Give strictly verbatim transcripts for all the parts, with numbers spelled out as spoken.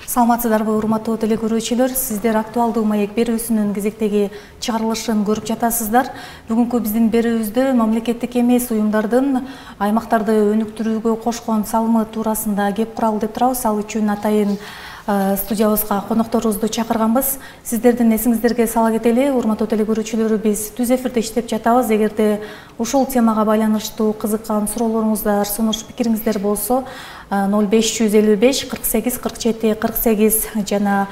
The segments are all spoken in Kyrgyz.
Саламатсыздарбы, урматтуу телекөрүүчүлөр, сиздер актуалдуу маек берүүсүнүн кезектеги чыгарылышын көрүп жатасыздар. Бүгүнкү биздин берүүбүздө мамлекеттик эмес уюмдардын аймактарды өнүктүрүүгө кошкон салымы туурасында кеп куралы деп турабыз. Ал үчүн атайын студиябызга конокторубузду чакырганбыз. Сиздердин эсиңиздерге сала кетели, урматтуу телекөрүүчүлөр, биз түз эфирде иштеп жатабыз. Эгерде ушул темага байланыштуу кызыккан суроолоруңуздар, сунуш пикириңиздер болсо, ноль беш жүз элүү беш кырк сегиз кырк жети кырк сегиз жана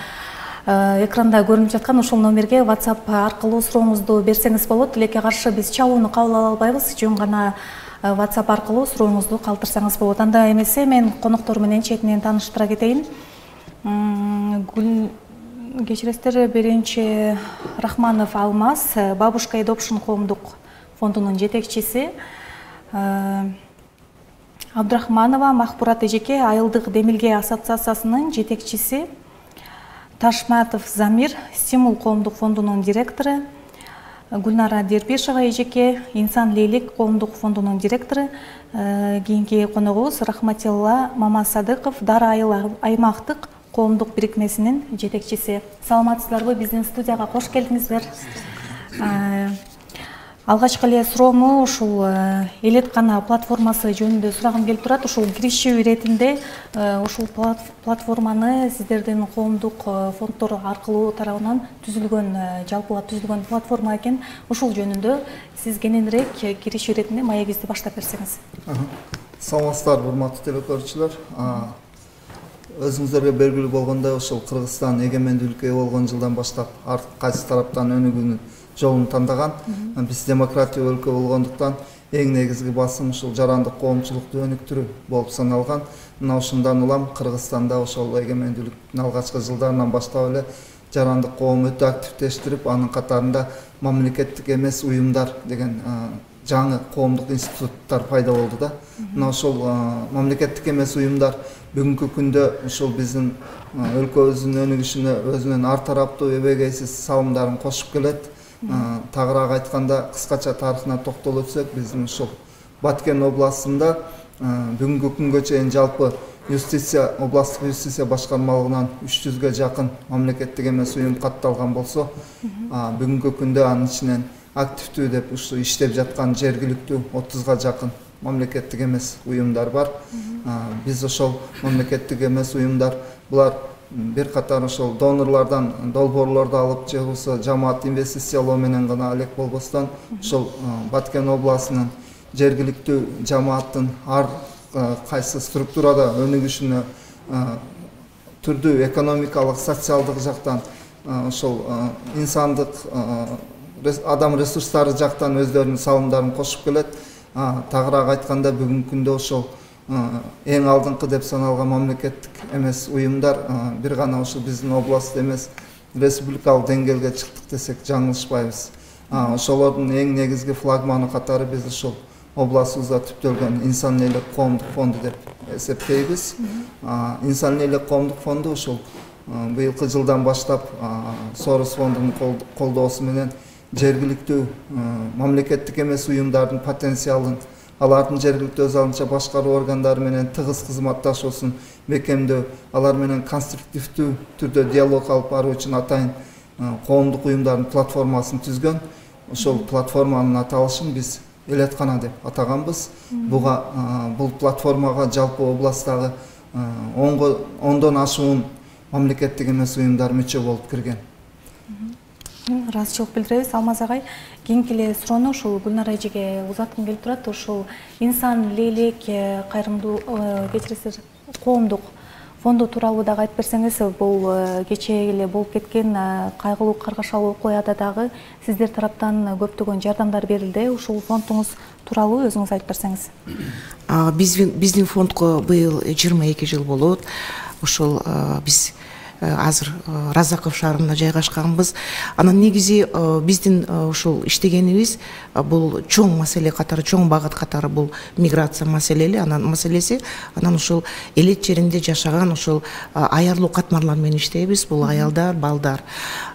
экранда көрүнүп жаткан ушул номерге WhatsApp аркылуу сурооңузду берсеңиз болот. Тилекке каршы биз чабууну кабыл ала албайбыз, жөн гана WhatsApp аркылуу сурооңузду калтырсаңыз болот. Анда эмесе мен коноктор менен четинен тааныштыра кетейин. Гүл кечиресиздер, биринчи Рахманов Алмаз, Бабушка Adoption коомдук фондунун жетекчиси. Абдрахманова Махпурат эжеке, Айылдык Демилге ассоциациясынын жетекчиси. Ташматов Замир, Стимул коомдук фондунун директору. Гүлнара Дербишева эжеке, Инсан Лейлик коомдук фондунун директору. Кийинки коногубуз Рахматилла Мамасадыков, Дара айыл аймактык коомдук бирикмесинин жетекчиси. Саламатсыздарбы, биздин студияга кош келдиңиздер. Алгачкы эле суроому ушул Элеткана платформасы жөнүндө сурагым келип турат. Ушул киришүү иретинде ушул платформаны сиздердин коомдук фонддор аркылуу тарабынан түзүлгөн, жалпылап түзүлгөн платформа экен. Ушул жөнүндө сиз кененирээк киришүү иретинде маегибизди баштап берсеңиз. Саламатсыздарбы, урматтуу телекөрүүчүлөр. Өзүңүздөргө белгилүү болгондой, ошол Кыргызстан эгемендүүлүккө ээ болгон жылдан баштап ар кайсы тараптан өнүгүүнүн жолун тандаган. Биз демократия өлкө болгондуктан эң негизги басым ушул жарандык коомчулукту өнүктүрүү болуп саналган. Мына ошондон улам Кыргызстанда ошол эгемендүүлүктүн алгачкы жылдарынан баштап эле жарандык коом өтө активдештирип, анын катарында мамлекеттик эмес уюмдар деген жаңы коомдук институттар пайда болду да. Мына ошол мамлекеттик эмес уюмдар бүгүнкү күндө ушул биздин өлкөбүздүн өнүгүшүнө өзүнүн ар тараптуу эбегейсиз салымдарын кошуп келет. Тагыраак айтканда, кыскача тарыхына токтолуп өтсөк, биздин ушул Баткен областында бүгүнкү күнгө чейин жалпы юстиция, областтык юстиция башкармалыгынан үч жүзгө жакын мамлекеттик эмес уюм катталган болсо, бүгүнкү күндө анын ичинен активдүү деп ушу иштеп жаткан жергиликтүү отузга жакын мамлекеттик эмес уюмдар бар. Биз ошол мамлекеттик эмес уюмдар, булар бир катар ошол донорлордон долбоорлорду алып, же болбосо жамаат инвестициялоо менен гана элек болбостон, ошол Баткен областынын жергиликтүү жамааттын ар кайсы структурада өнүгүшүнө түрдүү экономикалык, социалдык жактан, ошол инсандык адам ресурстары жактан өздөрүнүн салымдарын кошуп келет. Тагыраак айтканда, бүгүнкү күндө ошол эң алдыңкы деп саналган мамлекеттик эмес уюмдар бир гана ошол биздин област эмес, республикалык деңгээлге чыктык десек жаңылышпайбыз. Ошолордун эң негизги флагманы катары биз ошол областыбызда түптөлгөн Инсан Лейлик коомдук фонду деп эсептейбиз. Инсан Лейлик коомдук фонду ошол быйылкы жылдан баштап Сорос фондунун колдоосу менен жергиликтүү мамлекеттик эмес уюмдардын потенциалын, алардын жергиликтүү өз алынча башкаруу органдары менен тыгыз кызматташуусун бекемдөө, алар менен конструктивдүү түрдө диалог алып баруу үчүн атайын коомдук уюмдардын платформасын түзгөн. Ошол платформанын аталышын биз Элеткана деп атаганбыз. Буга бул платформага жалпы областтагы ондон ашуун мамлекеттик эмес уюмдар мүчө болуп кирген. Ыраазычылык билдиребиз. Алмаз агай, кийинки эле суроону ушул Гүлнара эжеге узаткым келип турат. Ушул Инсан Лейлик кайрымдуу кечиресиздер коомдук фонду тууралуу дагы айтып берсеңиз, бул кечээ эле болуп кеткен кайгылуу каргашалуу окуяда дагы сиздер тараптан көптөгөн жардамдар берилди. Ушул фондуңуз тууралуу өзүңүз айтып берсеңиз. Биздин фондго быйыл жыйырма эки жыл болот. Ушул биз азыр Разаков шаарында жайгашканбыз. Анан негизи биздин ушул иштегенибиз бул чоң маселе катары, чоң багыт катары бул миграция маселеси, анан маселеси, анан ушул элет жеринде жашаган ушул аярлуу катмарлар менен иштейбиз. Бул аялдар, балдар.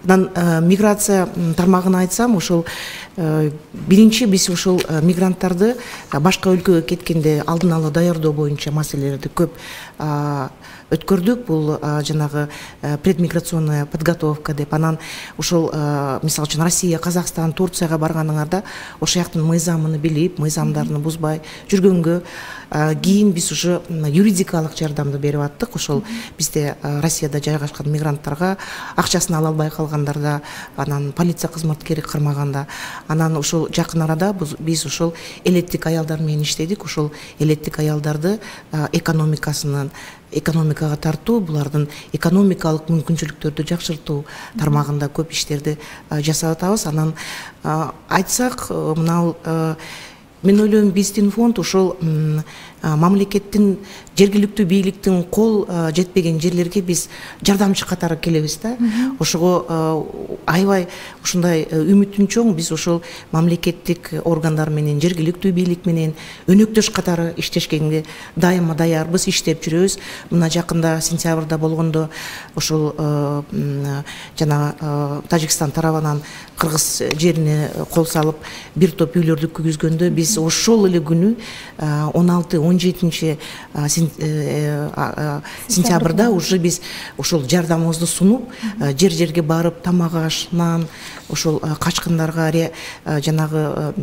Анан миграция тармагын айтсам, ушул биринчи биз ушул мигранттарды башка өлкөгө кеткенде алдын ала даярдоо боюнча маселелерди көп өткөрдүк. Бул жанагы предмиграционная подготовка деп, анан ушул мисалы үчүн Россия, Казакстан, Турцияга барганыңарда ошол жактын мыйзамын билип, мыйзамдарын бузбай жүргөнгө кийин биз уже юридикалык жардамды берип аттык. Ошол бизде Россияда жайгашкан мигранттарга акчасын ала албай калгандарда, анан полиция кызматкери кырмаганда, анан ушул жакын арада биз ушул элеттик аялдар менен иштедик. Ушул элеттик аялдарды экономикасынын экономикага тартуу, булардын экономикалык мүмкүнчүлүктөрдү жакшыртуу тармагында көп иштерди жасап атабыз. Анан айтсак, мына мен ойлойм, биздин фонд ушул мамлекеттин, жергиликтүү бийликтин кол жетпеген жерлерге биз жардамчы катары келебиз да. Ошого аябай ушундай үмүтүм чоң. Биз ушул мамлекеттик органдар менен, жергиликтүү бийлик менен өнөктөш катары иштешкенге дайыма даярбыз, иштеп жүрөбүз. Мына жакында сентябрда болгондо ушул жана Тажикстан тарабынан кыргыз жерине кол салып бир топ үйлөрдү күйгүзгөндө биз ошол эле күнү он алты он жетинчи сентябрда уже биз ушул жардамыбызды сунуп, жер жерге барып, тамак аш, нан ошол качкындарга, жанагы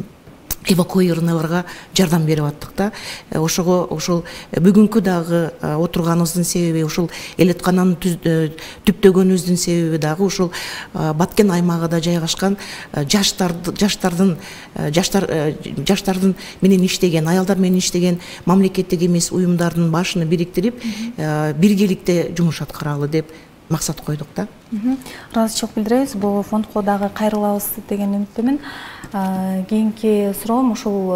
эвакуированныйларга жардам берип аттык да. Ошого ошол бүгүнкү дагы отурганыбыздын себеби, ушул элеткананы түптөгөнүбүздүн себеби дагы ушул Баткен аймагында жайгашкан жаштарды, жаштардын жаштар жаштардын менен иштеген, аялдар менен иштеген мамлекеттик эмес уюмдардын башын бириктирип, биргеликте жумуш аткаралы деп максат койдук да. Ыраазычылык билдиребиз. Бул фондко дагы кайрылабыз деген үмүттөмүн. Кийинки суроом ушул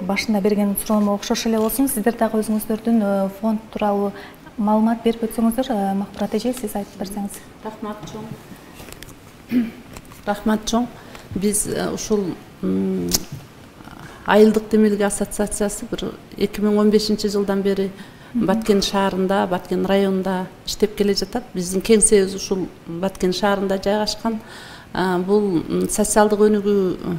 башында берген суроомо окшош эле болсун. Сиздер дагы өзүңүздөрдүн фонд тууралуу маалымат берип өтсөңүздөр, Макбурат эже, сиз айтып берсеңиз. Рахмат чоң. Рахмат чоң. Биз ушул Айылдык демилге ассоциациясы бир эки миң он бешинчи жылдан бери Баткен шаарында, Баткен районунда иштеп келе жатат. Биздин кеңсебиз ушул Баткен шаарында жайгашкан. Бул социалдык өнүгүү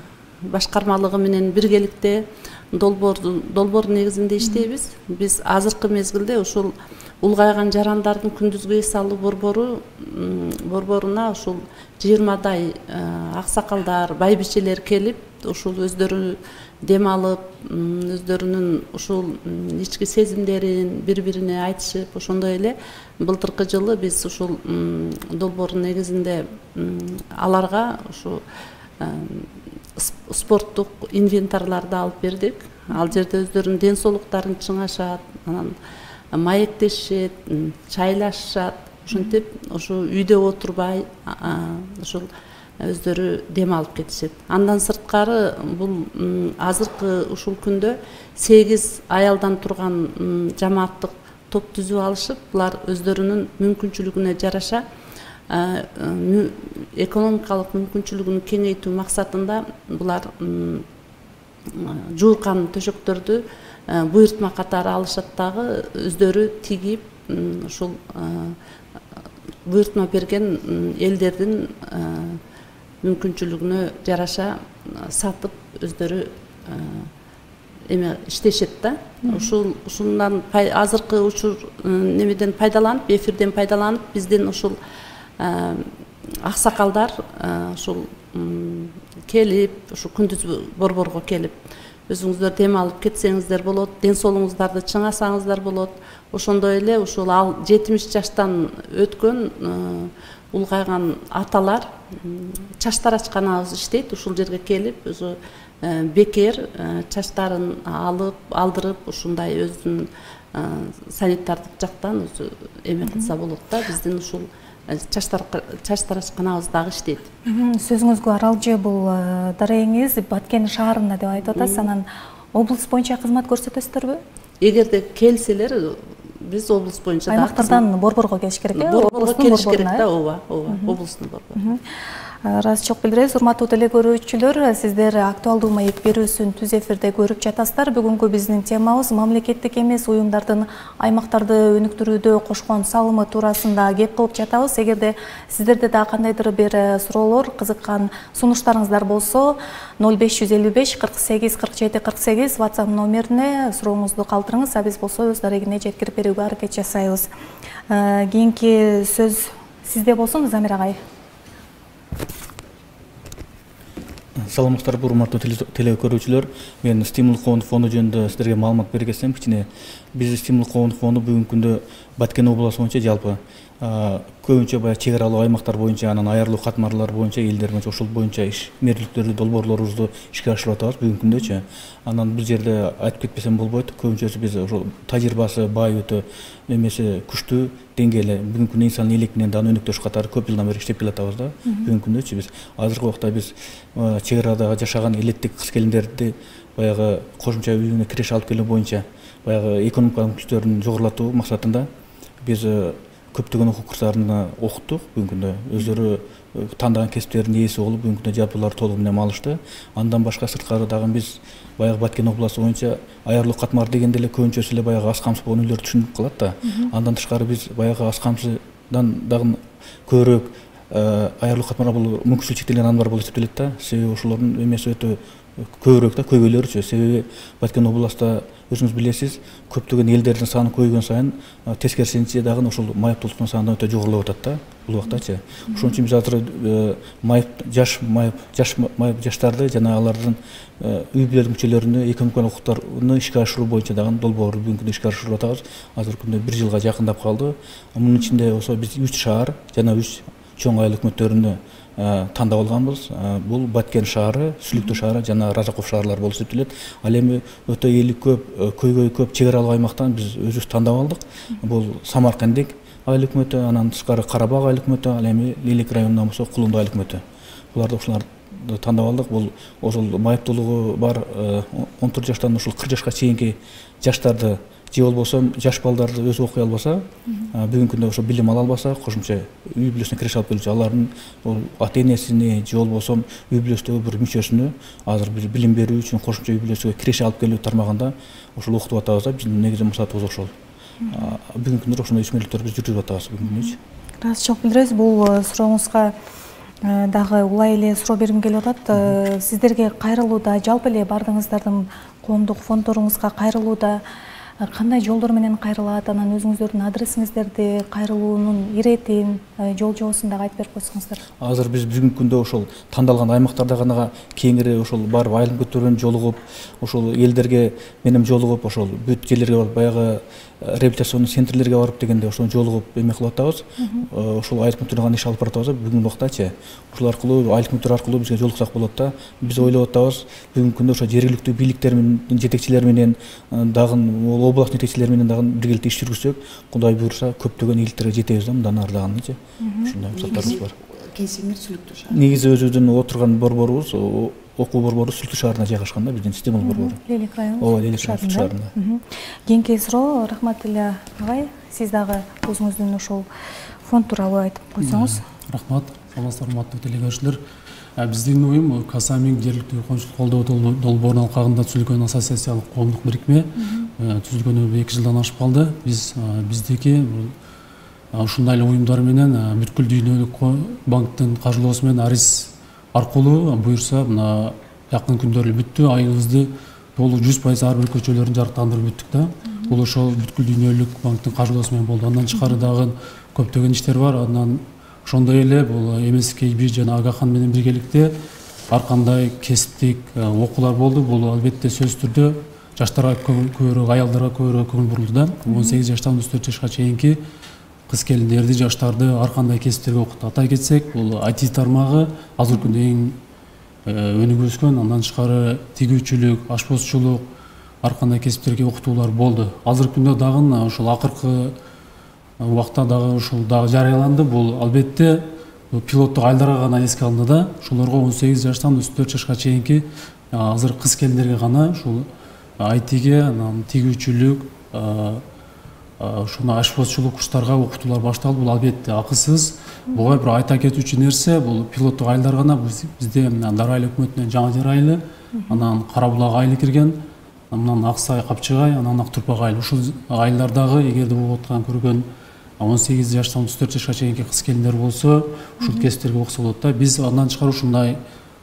башкармалыгы менен биргеликте долбоор долбоор негизинде иштейбиз. Биз азыркы мезгилде ушул улгайган жарандардын күндүзгү эс алуу борбору борборуна ушул жыйырмадай аксакалдар, байбичелер келип, ушул өздөрү дем алып, өздөрүнүн ушул ички сезимдерин бири-бирине айтышып, ошондой эле былтыркы жылы биз ушул долбоордун негизинде аларга ушу спорттук инвентарларды алып бердик. Ал жерде өздөрүнүн ден соолуктарын чыңашат, анан маектешет, чайлашат. Ошентип ушу үйдө отурбай ушул өздөрү дем алып кетишет. Андан сырткары бул азыркы ушул күндө сегиз аялдан турган жамааттык топ түзүп алышып, булар өздөрүнүн мүмкүнчүлүгүнө жараша экономикалык мүмкүнчүлүгүн кеңейтүү максатында булар жууркан төшөктөрдү буйртма катары алышат дагы, өздөрү тигип ушул буйртма берген элдердин мүмкүнчүлүгүнө жараша сатып өздөрү эме иштешет да. Ушул ушундан азыркы учур немеден пайдаланып, эфирден пайдаланып, биздин ушул аксакалдар ушул келип, ушу күндүз борборго келип, өзүңүздөр дем алып кетсеңиздер болот, ден соолугуңуздарды чыңасаңыздар болот. Ошондой эле ушул ал жетимиш жаштан өткөн улгайган аталар чачтар ачканабыз иштейт. Ушул жерге келип, өзү бекер чачтарын алып, алдырып, ушундай өзүнүн санитардык жактан өзү эме кылса болот да. Биздин ушул чачтар чачтар ачканабыз дагы иштейт. Сөзүңүзгө аралжы бул дарегиңиз Баткен шаарында деп айтып атасыз. Анан облус боюнча кызмат көрсөтөсүздөрбү? Эгерде келселер, биз облус боюнча аймактардан борборго келиш керек э? Борборго келиш керек да, ооба, ооба, облустун борбору. Ыраазычылык билдиребиз. Урматтуу теле көрүүчүлөр, сиздер актуалдуу маек берүүсүн түз эфирде көрүп жатасыздар. Бүгүнкү биздин темабыз мамлекеттик эмес уюмдардын аймактарды өнүктүрүүдө кошкон салымы туурасында кеп кылып жатабыз. Эгерде сиздерде да кандайдыр бир суроолор, кызыккан сунуштарыңыздар болсо, ноль беш жүз элүү беш кырк сегиз кырк жети кырк сегиз WhatsApp номерине сурооңузду калтырыңыз. А биз болсо өз дарегине жеткирип берүүгө аракет жасайбыз. Кийинки сөз сизде болсун, Замир агай. Саламатсыздарбы, урматтуу теле көрүүчүлөр. Мен Стимул коомдук фонду жөнүндө сиздерге маалымат бере кетсем, кичине биз Стимул коомдук фонду бүгүнкү күндө Баткен областы боюнча жалпы көбүнчө баягы чек аралуу аймактар боюнча, анан айрылуу катмарлар боюнча, элдер боюнча ошол боюнча ишмерликтөрдү, долбоорлорубузду ишке ашырып атабыз бүгүнкү күндөчү. Анан бул жерде айтып кетпесем болбойт, көбүнчөсү биз ошол тажрыйбасы бай, өтө эмеси күчтүү деңгээле бүгүнкү күндө инсан электинен дагы өнүктүрүш катары көп жылдан бери иштеп келатабыз да. Бүгүнкү күндөчү биз азыркы убакта биз чек арадагы жашаган элеттик кыз келиндерди баягы кошумча үйүнө киреш алып келүү боюнча баягы экономикалык мүмкүнчүлүктөрүн жогорулатуу максатында биз көптөгөн окуу курстарына окуттук. Бүгүнкү күндө өздөрү тандаган кесиптердин ээси болуп, бүгүнкү күндө жалпылар толугу менен алышты. Андан башка сырткары дагы биз баягы Баткен областы боюнча айрылуу катмар дегенде эле көбүнчөсү эле баягы аз камсыз болгон үйлөрдү түшүнүп калат да. Андан тышкары биз баягы аз камсыздан дагы көбүрөөк айрылуу катмар бул мүмкүнчүлүгү чектелген адамдар болуп эсептелет да. Себеби ошолордун эмеси өтө көбүрөөк да, көйгөйлөрүчү. Себеби Баткен областта өзүңүз билесиз, көптөгөн элдердин саны көбөйгөн сайын тескерисинче дагы ошол майыптуулуктун саны өтө жогорулап атат да бул убактачы. Ошон үчүн биз азыр майып жаш майып жаш майып жаштарды жана алардын үй бүлөлүк мүчөлөрүнө экономикалык укуктарны ишке ашыруу боюнча дагы долбоорду бүгүнкү күндө ишке ашырып атабыз. Азыркы күндө бир жылга жакындап калды. Мунун ичинде болсо биз үч шаар жана үч чоң айыл өкмөттөрүнө тандап алганбыз. Бул Баткен шаары, Сүлүктүү шаары жана Разаков шаарлары болуп эсептелет. Ал эми өтө эли көп, көйгөй көп чек аралык аймактан биз өзүбүз тандап алдык. Бул Самаркандек айыл өкмөтү, анан тышкары Карабак айыл өкмөтү, ал эми Лелек районунан болсо Кулунду айыл өкмөтү. Буларды ушуларды тандап алдык. Бул ошол майыптуулугу бар он төрт жаштан ушул кырк жашка чейинки жаштарды же болбосо жаш балдарды өзү окуй албаса, бүгүнкү күндө ошо билим ала албаса, кошумча үй бүлөсүнө киреше алып келүүчү алардын ата энесине же болбосо үй бүлөсүндөгү бир мүчөсүнө азыр бир билим берүү үчүн кошумча үй бүлөсүгө киреше алып келүү тармагында ошол окутуп атабыз да. Биздин негизги максатыбыз ошол. Бүгүнкү күндө ошондой ишмерликтерди биз жүргүзүп атабыз бүгүнкү күндөчү. Ыраазычылык билдиребиз. Бул сурооңузга дагы улай эле суроо бергим келип атат. Сиздерге кайрылууда, жалпы эле бардыгыңыздардын коомдук фонддоруңузга кайрылууда кандай жолдор менен кайрылат, анан өзүңүздөрдүн адресиңиздерди, кайрылуунун иретин, жол жобосун дагы айтып берип койсоңуздар. Азыр биз бүгүнкү күндө ошол тандалган аймактарда гана кеңири ошол барып айыл өкмөттөрүнөн жолугуп, ошол элдерге менен жолугуп, ошол бүт жерлерге барып баягы реабилитационный центрлерге барып дегенде ошол жолугуп эме кылып атабыз. Ошол айыл өкмөттөрүнө гана иш алып баратабыз бүгүнкү убактачы. Ошол аркылуу айыл өкмөттөр аркылуу бизге жолуксак болот да. Биз ойлоп атабыз бүгүнкү күндө ошо жергиликтүү бийликтер менен жетекчилер менен дагы область жетекчилери менен дагы биргеликте иш жүргүзсөк, Кудай буйруса көптөгөн ийгиликтерге жетебиз да, мындан ары дагычы. Ушундай максаттарыбыз бар. Кесимир Сүлүктүү шаар. Негизи өзүбүздүн отурган борборубуз, окуу борбору Сүлүктүү шаарына жайгашкан да, биздин Стимул борбору. Лелек району. Ооба, Лелек шаарында. Кийинки суроо, рахмат эле агай. Сиз дагы өзүңүздүн ошол фонд тууралуу айтып койсоңуз. Рахмат. Саламатсыздар, урматтуу теле көрүүчүлөр. Биздин уюм Касамин жергиликтүү коомчулук колдоо долбоорунун алкагында түзүлгөн ассоциациялык коомдук бирикме. Түзүлгөнү эки жылдан ашып калды. Биз биздики ушундай эле уюмдар менен бүткүл дүйнөлүк банктын каржылоосу менен арис аркылуу буюрса мына жакын күндөрү бүттү, айыбызды толук жүз пайыз ар бир көчөлөрүн жарыктандырып бүттүк да. Бул ошол бүткүл дүйнөлүк банктын каржылоосу менен болду. Андан тышкары дагы көптөгөн иштер бар. Андан ошондой эле бул эм эс кей би жана Агахан менен биргеликте ар кандай кесиптик окуулар болду. Бул албетте сөзсүз түрдө жаштарга көбүрөөк, аялдарга көбүрөөк көңүл бурулду да. он сегиз жаштан он төрт жашка чейинки кыз келиндерди, жаштарды ар кандай кесиптерге окутту. Атай кетсек, бул ай ти тармагы азыркы күндө эң өнүгүп өскөн. Андан тышкары тигүүчүлүк, ашпозчулук, ар кандай кесиптерге окутуулар болду. Азыркы күндө дагы ошол акыркы убакта дагы ушул дагы жарыяланды. Бул албетте пилоттук айылдарга гана эске алынды да. Ошолорго он сегиз жаштан он төрт жашка чейинки азыр кыз келиндерге гана ушул ай тиге, анан тигүүчүлүк, ушуна ашпозчулук курстарга окутуулар башталды. Бул албетте акысыз. Буга бир айта кетүүчү нерсе, бул пилоттук айылдар гана. Бизде Дары айыл өкмөтүнөн Жаңы Жер айылы, анан Кара Булак айылы кирген, анан Аксай, Капчыгай, анан Ак Турпак айылы. Ушул айылдардагы эгерде болуп аткан көргөн он сегиз жаштан отуз төрт жашка чейинки кыз келиндер болсо, ушул кесиптерге окуса болот да. Биз андан тышкары ушундай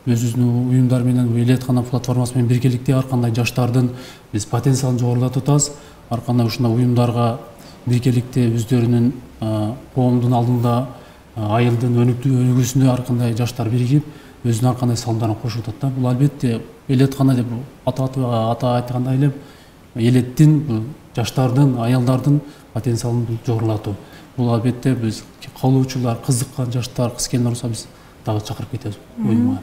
өзүбүздүн уюмдар менен, элеткана платформасы менен биргеликте ар кандай жаштардын биз потенциалын жогорулатып атабыз. Ар кандай ушундай уюмдарга биргеликте өздөрүнүн коомдун алдында айылдын өнүгүүсүндө ар кандай жаштар биригип, өзүнүн ар кандай салымдарын кошуп атат да. Бул албетте элеткана деп ата ата айткандай эле элеттин, жаштардын, аялдардын потенциалын жогорулатуу. Бул албетте биз каалоочулар, кызыккан жаштар, кыз келиндер болсо биз дагы чакырып кетебиз уюмга.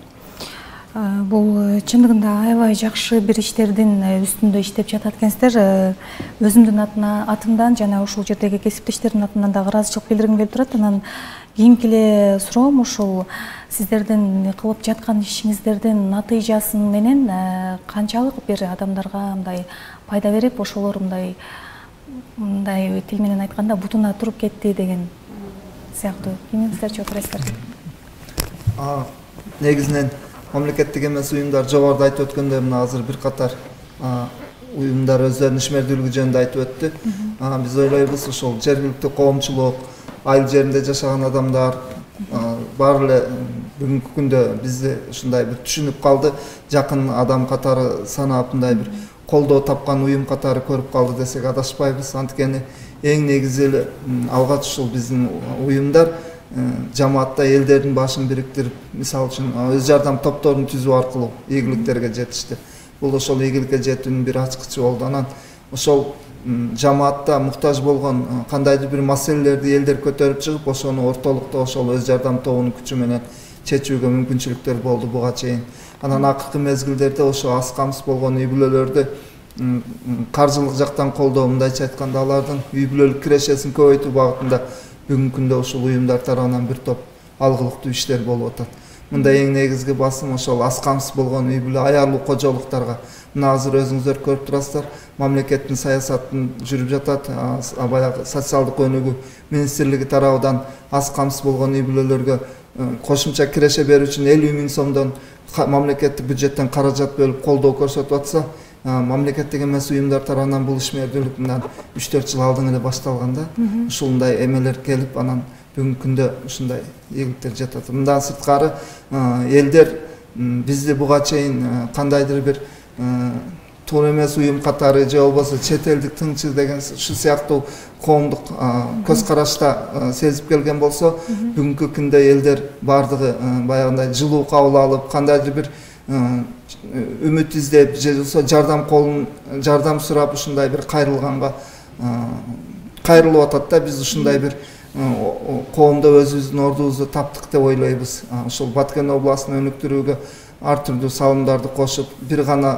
Бул чындыгында аябай жакшы бир иштердин үстүндө иштеп жатат экенсиздер. Өзүмдүн атымдан жана ушул жердеги кесиптештердин атынан дагы ыраазычылык билдиргим келип турат. Анан кийинки эле суроом ушул сиздердин кылып жаткан ишиңиздердин натыйжасы менен канчалык бир адамдарга мындай пайда берип, ошолор мындай мындай тил менен айтканда бутуна туруп кетти деген сыяктуу. Кимиңиздер жооп бересиздер? Негизинен мамлекеттик эмес уюмдар жогоруда айтып өткөндөй мына азыр бир катар уюмдар өздөрүнүн ишмердүүлүгү жөнүндө айтып өттү. Биз ойлойбуз ошол жергиликтүү коомчулук, айыл жеринде жашаган адамдар баары эле бүгүнкү күндө бизди ушундай бир түшүнүп калды, жакын адам катары санап мындай бир колдоо тапкан уюм катары көрүп калды десек адашпайбыз. Анткени эң негизи эле алгач ушул биздин уюмдар жамаатта элдердин башын бириктирип, мисалы үчүн өз жардам топторун түзүү аркылуу ийгиликтерге жетишти. Бул ошол ийгиликке жетүүнүн бир ачкычы болду. Анан ошол жамаатта муктаж болгон кандайдыр бир маселелерди элдер көтөрүп чыгып, ошону ортолукта ошол өз жардам тобунун күчү менен чечүүгө мүмкүнчүлүктөр болду буга чейин. Анан акыркы мезгилдерде ошо аз камсыз болгон үй бүлөлөрдү каржылык жактан колдоо, мындайча айтканда алардын үй бүлөлүк кирешесин көбөйтүү багытында бүгүнкү күндө ушул уюмдар тарабынан бир топ алгылыктуу иштер болуп атат. Мында эң негизги басым ошол аз камсыз болгон үй бүлө аялуу кожолуктарга. Мына азыр өзүңүздөр көрүп турасыздар, мамлекеттин саясатын жүрүп жатат. Баягы социалдык өнүгүү министрлиги тарабынан аз камсыз болгон үй бүлөлөргө кошумча киреше берүү үчүн элүү миң сомдон мамлекеттик бюджеттен каражат бөлүп колдоо көрсөтүп атса, мамлекеттик эмес уюмдар тарабынан бул ишмердүүлүк мындан үч төрт жыл алдын эле башталган да. Ушундай эмелер келип, анан бүгүнкү күндө ушундай ийгиликтер жатат. Мындан сырткары элдер бизди буга чейин кандайдыр бир туура эмес уюм катары же болбосо чет элдик тыңчы деген ушу сыяктуу коомдук көз карашта сезип келген болсо, бүгүнкү күндө элдер баардыгы баягындай жылуу кабыл алып, кандайдыр бир үмүт издеп же болбосо жардам колун жардам сурап ушундай бир кайрылганга кайрылып атат да. Биз ушундай бир коомдо өзүбүздүн ордубузду таптык деп ойлойбуз. Ошол Баткен областын өнүктүрүүгө ар түрдүү салымдарды кошуп, бир гана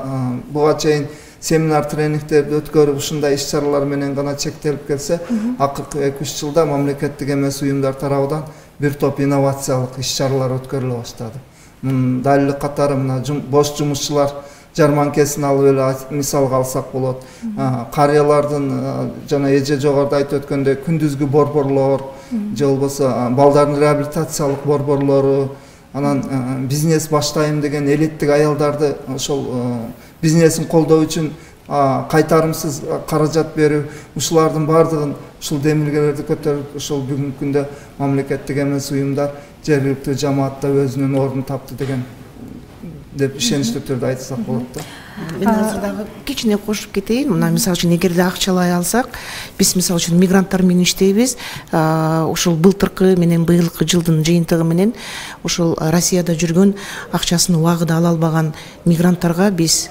буга чейин семинар тренингтерди өткөрүп, ушундай иш чаралар менен гана чектелип келсе, акыркы эки үч жылда мамлекеттик эмес уюмдар тарабынан бир топ инновациялык иш чаралар өткөрүлө баштады. Далил катары мына бош жумушчулар жарманкесин алып эле мисалга алсак болот. Карыялардын жана эже жогоруда айтып өткөндөй күндүзгү борборлор же болбосо балдардын реабилитациялык борборлору, анан бизнес баштайм деген элеттик аялдарды ошол бизнесин колдоо үчүн кайтарымсыз каражат берүү, ушулардын баардыгын ушул демилгелерди көтөрүп, ошол бүгүнкү күндө мамлекеттик эмес уюмдар жергиликтүү жамаатта өзүнүн ордун тапты деген деп ишеничтүү түрдө айтсак болот да. Мен азыр дагы кичине кошуп кетейин. Мына мисалы үчүн эгерде акчалай алсак, биз мисалы үчүн мигранттар менен иштейбиз. Ушул былтыркы менен быйылкы жылдын жыйынтыгы менен ушул Россияда жүргөн акчасын убагында ала албаган мигранттарга биз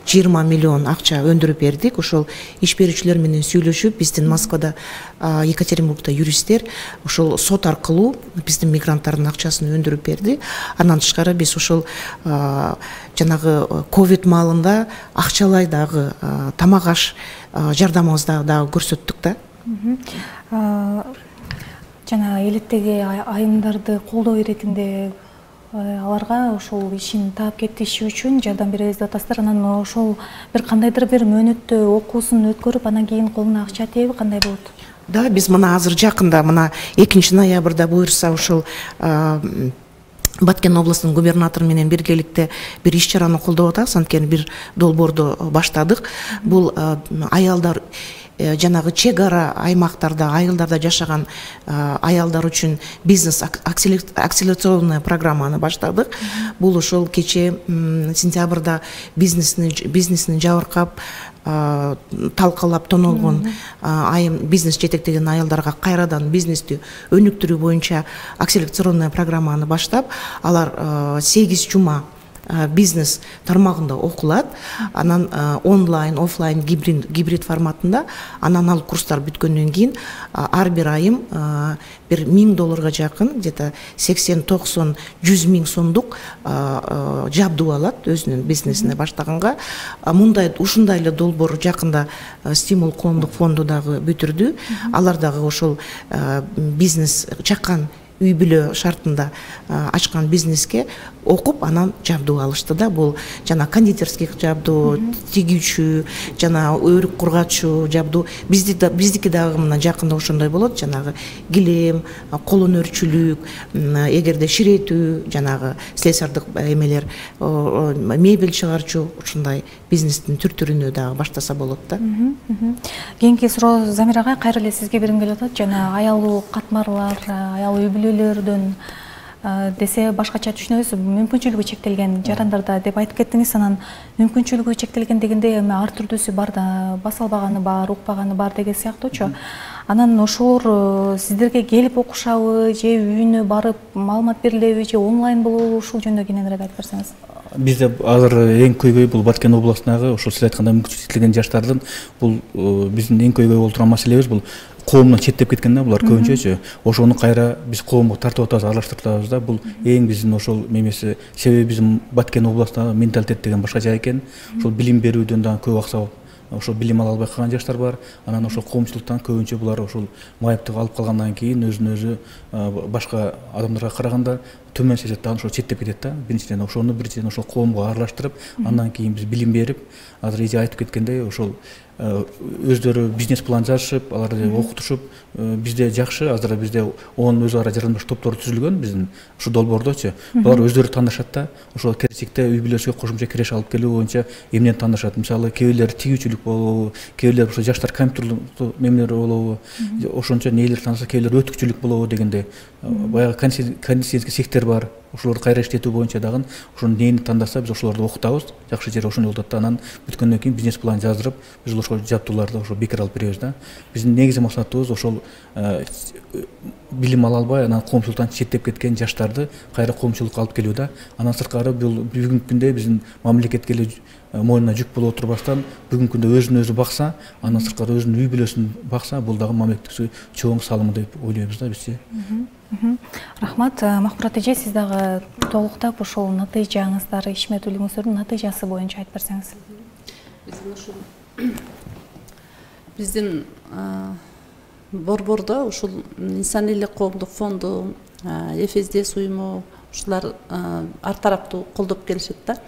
жыйырма миллион акча өндүрүп бердик. Ошол иш берүүчүлөр менен сүйлөшүп, биздин Москвада, Екатеринбургда юристтер ошол сот аркылуу биздин мигранттардын акчасын өндүрүп берди. Андан тышкары биз ошол жанагы ковид маалында акчалай дагы тамак аш жардамыбызды дагы көрсөттүк да. Жана элеттеги айымдарды колдоо иретинде аларга ошол ишин таап кетиши үчүн жардам беребиз деп атасыздар. Анан ошол бир кандайдыр бир мөөнөттө окуусун өткөрүп, анан кийин колуна акча тийеби, кандай болот? Да, биз мына азыр жакында мына экинчи ноябрда буюрса ушул Баткен областынын губернатору менен биргеликте бир иш чараны колдоп атабыз. Анткени бир долбоорду баштадык. Бул аялдар жанагы чек ара аймактарда, айылдарда жашаган аялдар үчүн бизнес акселерационный программаны баштадык. Бул ошол кече сентябрда бизнесни бизнесин жабыркап, талкалап тоналгон айым бизнес жетектеген аялдарга кайрадан бизнести өнүктүрүү боюнча акселерационный программаны баштап, алар сегиз жума бизнес тармагында окулат. Анан онлайн, офлайн, гибрид, гибрид форматында. Анан ал курстар бүткөндөн кийин ар бир айым бир миң долларга жакын, где-то сексен токсон жүз миң сомдук жабдуу алат өзүнүн бизнесине баштаганга. Мындай ушундай эле долбоор жакында Стимул коомдук фонду дагы бүтүрдү. Алар дагы ошол бизнес чакан үй бүлө шартында ачкан бизнеске окуп, анан жабдуу алышты да. Бул жана кондитерский жабдуу, тигүүчү, жана өрүк кургачуу жабдуу. Бизди да биздики дагы мына жакында ошондой болот. Жанагы килем, кол өнөрчүлүк, эгерде ширетүү, жанагы слесардык эмелер, мебель чыгарчу, ушундай бизнестин түр-түрүнө дагы баштаса болот да. Кийинки суроо Замир агай, кайра эле сизге бергим келип атат. Жана аялуу катмарлар, аял үй бүлөлөрдөн десе башкача түшүнөбүз, мүмкүнчүлүгү чектелген жарандарда деп айтып кеттиңиз. Анан мүмкүнчүлүгү чектелген дегенде эми ар түрдүүсү бар да, баса албаганы бар, укпаганы бар деген сыяктуучу. Анан ошолор сиздерге келип окушабы, же үйүнө барып маалымат берилеби, же онлайн болобу? Ушул жөнүндө кененирээк айтып берсеңиз. Бизде азыр эң көйгөй бул Баткен областындагы ошол сиз айткандай мүмкүнчүлүгү чектелген жаштардын бул биздин эң көйгөй болуп турган маселебиз. Бул коомдон четтеп кеткен да, булар көбүнчөчү. Ошону кайра биз коомго тартып атабыз, аралаштырып атабыз да. Бул эң биздин ошол мемеси. Себеби биздин Баткен областындагы менталитет деген башкача экен. Ошол билим берүүдөн дагы көп акса ошол билим ала албай калган жаштар бар. Анан ошол коомчулуктан көбүнчө булар ошол майыптык алып калгандан кийин өзүн өзү башка адамдарга караганда төмөн сезет да, ошол четтеп кетет да. Биринчиден ошону биринчиден ошол коомго аралаштырып, андан кийин биз билим берип, азыр эже айтып кеткендей ошол өздөрү бизнес план жазышып, аларды окутушуп, бизде жакшы, азыр бизде он өз ара жарандаш топтор түзүлгөн биздин ушу долбоордочу. Булар өздөрү тандашат да. Ошол келечекте үй бүлөсүгө кошумча киреш алып келүү боюнча эмнени тандашат. Мисалы, кээ бирлер тигүүчүлүк болобу, кээ бирлер ошо жаштар компьютерлык мемелер болобу, ошончо нээлер тандаса, кээ бирлер өтүкчүлүк болобу дегенде. Баягы кондиционерский сектор бар. Ошолорду кайра иштетүү боюнча дагы ошону нени тандаса биз ошолорду окутабыз. Жакшы жери ошондой болот да. Анан бүткөндөн кийин бизнес план жаздырып, биз ошол жабдууларды ошо бекер алып беребиз да. Биздин негизги максатыбыз ошол билим ала албай, анан коомчулуктан четтеп кеткен жаштарды кайра коомчулукка алып келүү да. Анан сырткары бул бүгүнкү күндө биздин мамлекетке эле мойнуна жүк болуп отурбастан, бүгүнкү күндө өзүн өзү бакса, анан сырткары өзүнүн үй бүлөсүн бакса, бул дагы мамлекеттик чоң салым деп ойлойбуз да бизчи. Рахмат. Макбурат эже, сиз дагы толуктап ошол натыйжаңыздар, ишмердүүлүгүңүздөрдүн натыйжасы боюнча айтып берсеңиз. Биздин ушул биздин борбордо ушул инсан элек коомдук фонду, ЭФСДС уюму ушулар ар тараптуу колдоп келишет да.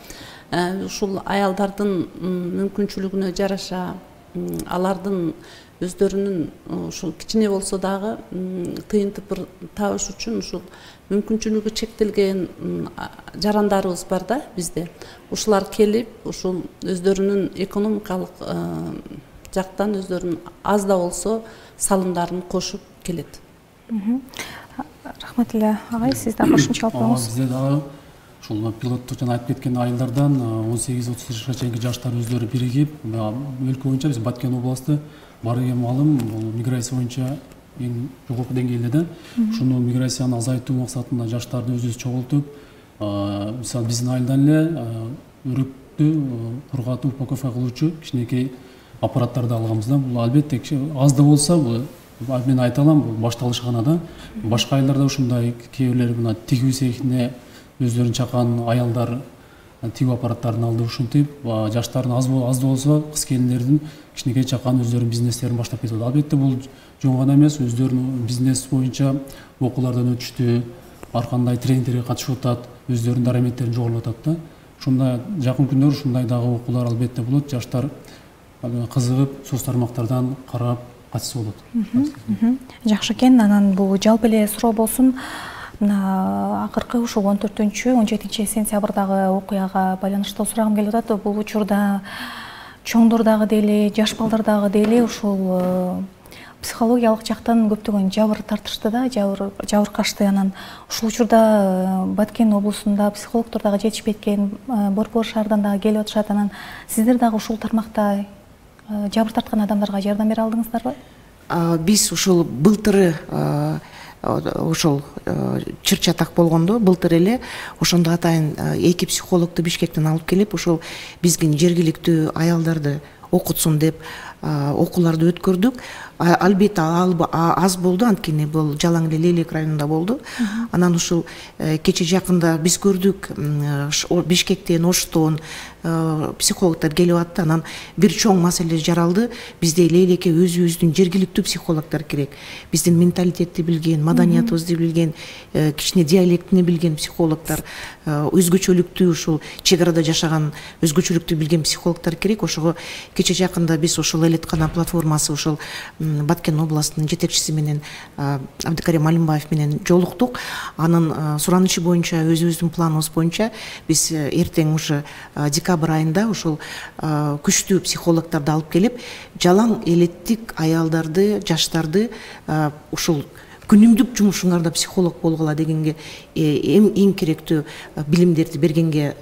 Ушул аялдардын мүмкүнчүлүгүнө жараша алардын өздөрүнүн ушул кичине болсо дагы тыйынтып бир табыш үчүн ушул мүмкүнчүлүгү чектелген жарандарыбыз бар да бизде. Ушулар келип, ушул өздөрүнүн экономикалык жактан өздөрүнүн аз да болсо салымдарын кошуп келет. Рахмат эле агай, сиз да кошумча алып коңуз. Бизде дагы ушул пилоттук жана айтып кеткен айылдардан он сегиз отуз жашка чейинки жаштар өздөрү биригип, өлкө боюнча биз Баткен областы бар эген маалым бул миграция боюнча эң жогорку деңгээлде да. Ушуну миграцияны азайтуу максатында жаштарды өзүбүз чогултуп, мисалы биздин айылдан эле өрүктү кургатып упаковка кылуучу кичинекей аппараттарды алганбыз да. Бул албетте аз да болсо, мен айта алам, бул башталыш гана да. Башка айылдарда ушундай кээ бирлери мына тигүү цехине өздөрүн чакан аялдар тигүү аппараттарын алды. Ушинтип жаштардын аз аз да болсо кыз келиндердин кичинекей чакан өздөрүнүн бизнестерин баштап кетет. Албетте бул жөн гана эмес, өздөрүнүн бизнес боюнча окуулардан өтүштү, ар кандай тренингтерге катышып атат, өздөрүнүн дараметтерин жогорулап атат да. Ушундай жакын күндөр ушундай дагы окуулар албетте болот. Жаштар кызыгып соц тармактардан карап катышса болот. Жакшы экен. Анан бул жалпы эле суроо болсун. Мына акыркы ушул он төртүнчү он жетинчи сентябрдагы окуяга байланыштуу сурагым келип атат. Бул учурда чоңдор дагы дейли, жаш балдар дагы дейли ушул психологиялык жактан көптөгөн жабыр тартышты да, жабыр жабыркашты. Анан ушул учурда Баткен облусунда психологдор дагы жетишпейт экен, Борбор шаардан дагы келип атышат. Анан сиздер дагы ушул тармакта жабыр тарткан адамдарга жардам бере алдыңыздарбы? Биз ушул былтыры ошол чыр чатак болгондо былтыр эле ошондо атайын эки психологду Бишкектен алып келип, ошол биздин жергиликтүү аялдарды окутсун деп окууларды өткөрдүк. Албетте аз болду, анткени бул жалаң эле Лейлек районунда болду. Анан ушул кече жакында биз көрдүк, Бишкектен, Оштон психологдор келип атты. Анан бир чоң маселе жаралды. Бизде Лейлекке өзүбүздүн жергиликтүү психологдор керек. Биздин менталитетти билген, маданиятыбызды билген, кичине диалектини билген психологдор, өзгөчөлүктүү ушул чек арада жашаган өзгөчөлүктү билген психологдор керек. Ошого кече жакында биз ушул Элеткана платформасы ушул Баткен областынын жетекчиси менен Абдыкарим Алимбаев менен жолуктук. Анын суранычы боюнча, өзүбүздүн планыбыз боюнча биз эртең ушу декабрь айында ушул күчтүү психологдорду алып келип, жалаң элеттик аялдарды, жаштарды ушул күнүмдүк жумушуңарда психолог болгула дегенге эң керектүү билимдерди бергенге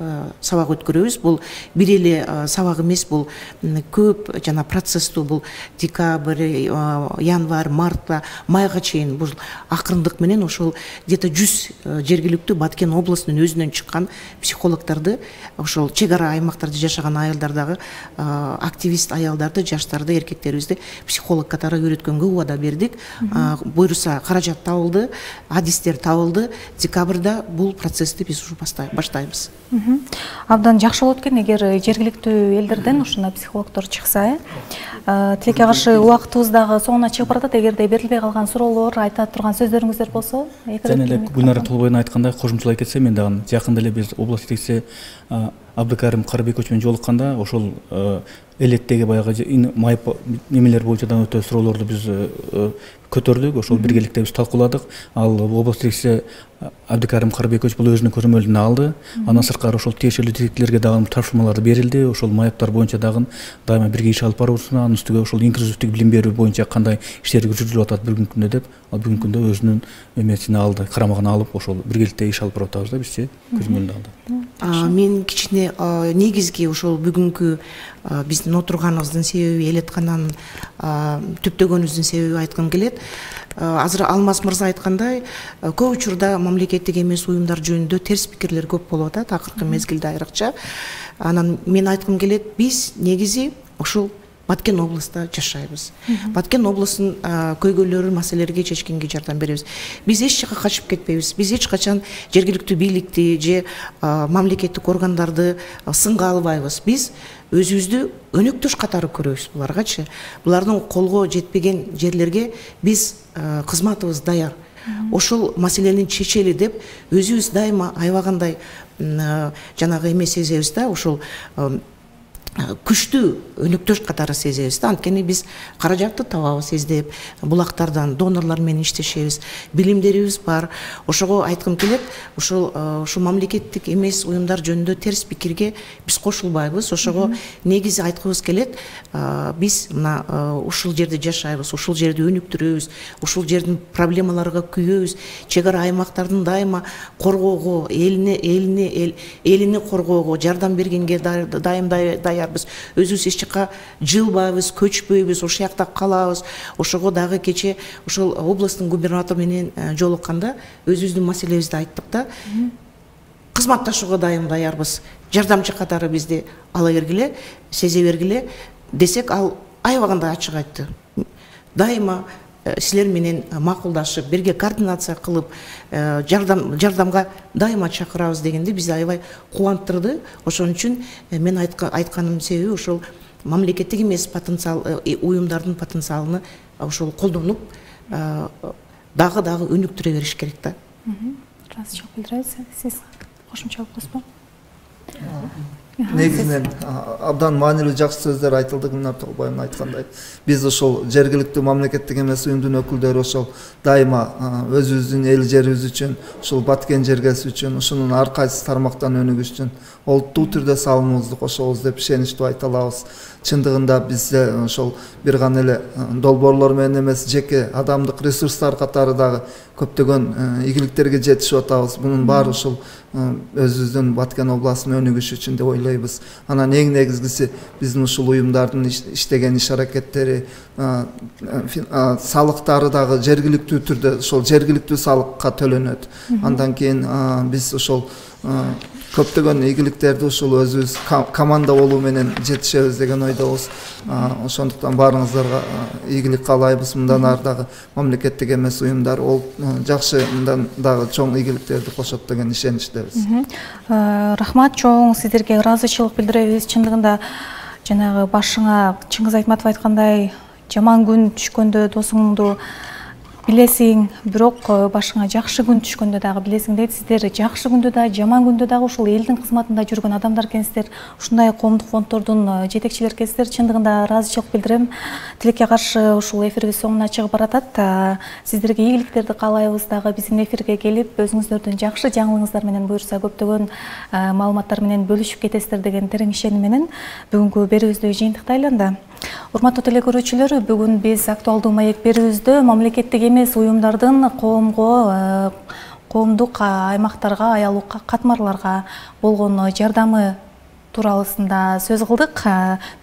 сабак өткөрөбүз. Бул бир эле сабак эмес, бул көп жана процесстүү, бул декабрь, январь, мартта, майга чейин бул акырындык менен ошол где-то жүз жергиликтүү Баткен облусунун өзүнөн чыккан психологдорду, ошол чек ара аймактарда жашаган аялдардагы активист аялдарды, жаштарды, эркектерибизди психолог катары үйрөткөнгө убада бердик. Буйруса каражат табылды, адистер табылды. Декабрда бул процессти биз ушу баштайбыз. Абдан жакшы болот экен эгер жергиликтүү элдерден ушундай психологдор чыкса. Тилекке каршы убактыбыз дагы соңуна чыгып баратат. Эгерде берилбей калган суроолор, айта турган сөздөрүңүздөр болсо, жана эле Гүлнара Толбойдун айткандай кошумчалай кетсем, мен дагы жакында эле биз область жетекчиси Абдыкарим Карабекович менен жолукканда ошол элеттеги баягы майып немелер боюнча да өтө суроолорду биз көтөрдүк. Ошол биргеликте биз талкууладык. Ал область жетекчиси Абдыкарим Карабекович бул өзүнүн көрөмөлүнө алды. Андан сырткары ошол тиешелүү тилектилерге дагы тапшырмалар берилди. Ошол майыптар боюнча дагы дайыма бирге иш алып барабызбы, анын үстүгө ошол инклюзивдик билим берүү боюнча кандай иштер жүргүзүлүп атат бүгүнкү күндө деп, ал бүгүнкү күндө өзүнүн эмесине алды, карамагына алып, ошол биргеликте иш алып барып атабыз да бизчи көзөмөлүнө алды. Мен кичине негизги ошол бүгүнкү биздин отурганыбыздын себеби, Элеткананын түптөгөнүбүздүн себеби айткым келет. Азыр Алмаз мырза айткандай, көп учурда мамлекеттик эмес уюмдар жөнүндө терс пикирлер көп болуп атат, акыркы мезгилде айрыкча. Анан мен айткым келет, биз негизи ушул Баткен областта жашайбыз. Баткен областынын көйгөйлөрү, маселелерге чечкенге жардам беребиз. Биз эч жакка качып кетпейбиз. Биз эч качан жергиликтүү бийликти же мамлекеттик органдарды сынга албайбыз. Биз өзүбүздү өнөктөш катары көрөбүз буларгачы. Булардын колго жетпеген жерлерге биз кызматыбыз даяр. Ошол маселени чечели деп өзүбүз дайыма аябагандай жанагы эме сезебиз да, ошол күчтүү өнөктөш катары сезебиз да. Анткени биз каражатты табабыз издеп, булактардан, донорлор менен иштешебиз, билимдерибиз бар. Ошого айткым келет, ошол ушу мамлекеттик эмес уюмдар жөнүндө терс пикирге биз кошулбайбыз. Ошого негизи айткыбыз келет, биз мына ушул жерде жашайбыз, ушул жерди өнүктүрөбүз, ушул жердин проблемаларга күйөбүз, чек ара аймактардын дайыма коргоого, элине элине элини коргоого жардам бергенге дайым даярбыз. Өзүбүз эч жакка жылбайбыз, көчпөйбүз, ошол жакта калабыз. Ошого дагы кече ошол областтын губернатору менен жолукканда өзүбүздүн маселебизди айттык да. Кызматташууга дайым даярбыз. Жардамчы катары бизди ала бергиле, сезе бергиле десек, ал аябагандай ачык айтты. Дайыма силер менен макулдашып, бирге координация кылып, жардам жардамга дайыма чакырабыз дегенде бизди аябай кубандырды. Ошон үчүн мен айтканым себеби ошол мамлекеттик эмес потенциал уюмдардын потенциалын ошол колдонуп дагы дагы өнүктүрө бериш керек да. Ыраазычылык билдиребиз. Сиз кошумча алып койсузбу? Негизинен абдан маанилүү жакшы сөздөр айтылды. Гүлнар Толбоевна айткандай, биз ошол жергиликтүү мамлекеттик эмес уюмдун өкүлдөрү ошол дайыма өзүбүздүн эл жерибиз үчүн, ушул Баткен жергеси үчүн, ушунун ар кайсы тармактан өнүгүш үчүн олуттуу түрдө салымыбызды кошобуз деп ишеничтүү айта алабыз. Чындыгында бизде ошол бир гана эле долбоорлор менен эмес, жеке адамдык ресурстар катары дагы көптөгөн ийгиликтерге жетишип атабыз. Бунун баары ушул өзүбүздүн Баткен областынын өнүгүшү үчүн деп ойлойбуз. Анан эң негизгиси биздин ушул уюмдардын иштеген иш аракеттери, салыктары дагы жергиликтүү түрдө ошол жергиликтүү салыкка төлөнөт. Андан кийин биз ошол көптөгөн ийгиликтерди ушул өзүбүз команда болуу менен жетишебиз деген ойдобуз. Ошондуктан баарыңыздарга ийгилик каалайбыз. Мындан ары дагы мамлекеттик эмес уюмдар ол жакшы мындан дагы чоң ийгиликтерди кошот деген ишеничтебиз. Рахмат, чоң сиздерге ыраазычылык билдиребиз. Чындыгында жанагы башыңа Чыңгыз Айтматов айткандай, жаман күн түшкөндө досуңду билесиң, бирок башыңа жакшы күн түшкөндө дагы билесиң дейт. Сиздер жакшы күндө да, жаман күндө дагы ушул элдин кызматында жүргөн адамдар экенсиздер. Ушундай коомдук фонддордун жетекчилери экенсиздер. Чындыгында ыраазычылык билдирем. Тилекке каршы ушул эфирибиз соңуна чыгып баратат. Сиздерге ийгиликтерди каалайбыз дагы. Биздин эфирге келип, өзүңүздөрдүн жакшы жаңылыгыңыздар менен буюрса көптөгөн маалыматтар менен бөлүшүп кетесиздер деген терең ишеним менен бүгүнкү берүүбүздү жыйынтыктайлы анда. Урматтуу телекөрүүчүлөр, бүгүн биз актуалдуу маек берүүбүздө мамлекеттик эмес уюмдардын коомго, коомдук аймактарга, аялуу катмарларга болгон жардамы тууралуусунда сөз кылдык.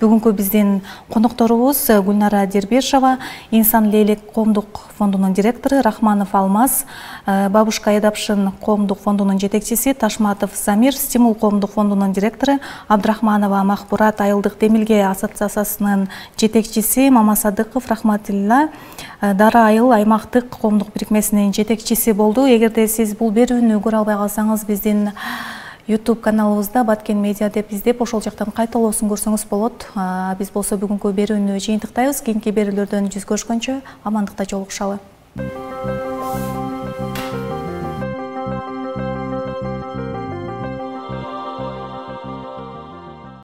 Бүгүнкү биздин конокторубуз Гүлнара Дербешова, Инсан Лейлек коомдук фондунун директору, Рахманов Алмаз, Бабушка Эдапшин коомдук фондунун жетекчиси, Ташматов Замир, Стимул коомдук фондунун директору, Абдрахманова Махбурат айылдык демилге ассоциациясынын жетекчиси, Мамасадыков Рахматилла Дара айыл аймактык коомдук бирикмесинин жетекчиси болду. Эгерде сиз бул берүүнү көрө албай калсаңыз, биздин YouTube каналыбызда Баткен Медиа деп издеп, ошол жактан кайталоосун көрсөңүз болот. Биз болсо бүгүнкү берүүнү жыйынтыктайбыз. Кийинки берүүлөрдөн жүз көрүшкөнчө амандыкта жолугушалы.